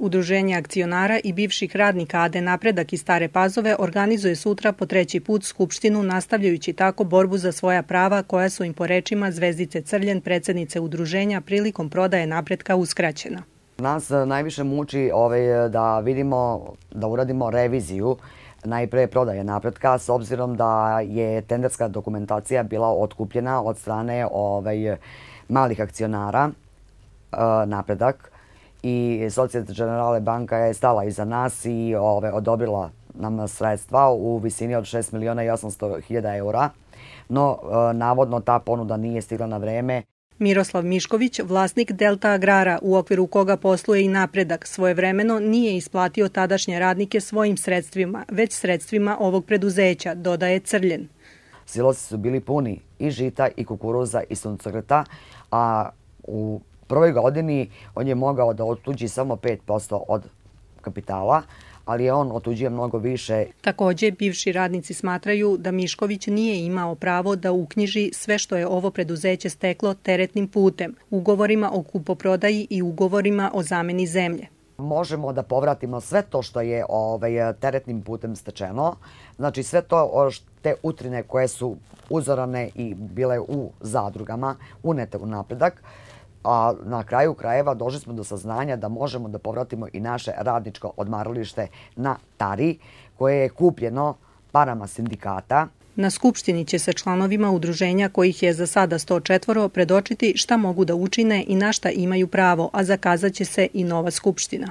Udruženje akcionara i bivših radnika AD Napredak iz Stare Pazove organizuje sutra po 3. put skupštinu, nastavljajući tako borbu za svoja prava koja su im po rečima Zvezdice Crljen, predsjednice udruženja, prilikom prodaje Napretka uskraćena. Nas najviše muči da vidimo, da uradimo reviziju najpre prodaje Napretka, s obzirom da je tenderska dokumentacija bila otkupljena od strane malih akcionara Napredak i Societe Generale banka je stala iza nas i odobrila nam sredstva u visini od 6.800.000 eura, no navodno ta ponuda nije stigla na vreme. Miroslav Mišković, vlasnik Delta Agrara, u okviru koga posluje i Napredak, svojevremeno nije isplatio tadašnje radnike svojim sredstvima, već sredstvima ovog preduzeća, dodaje Crljen. Silosi su bili puni i žita, i kukuruza, i suncokreta, a u prvoj godini on je mogao da otuđi samo 5% od kapitala, ali je on otuđio mnogo više. Također, bivši radnici smatraju da Mišković nije imao pravo da uknjiži sve što je ovo preduzeće steklo teretnim putem, ugovorima o kupoprodaji i ugovorima o zameni zemlje. Možemo da povratimo sve to što je teretnim putem stečeno, znači sve to, te utrine koje su uzorane i bile u zadrugama, unete u Napredak, a na kraju krajeva došli smo do saznanja da možemo da povratimo i naše radničko odmaralište na Tari, koje je kupljeno parama sindikata. Na skupštini će se članovima udruženja, kojih je za sada 104, predočiti šta mogu da učine i na šta imaju pravo, a zakazat će se i nova skupština.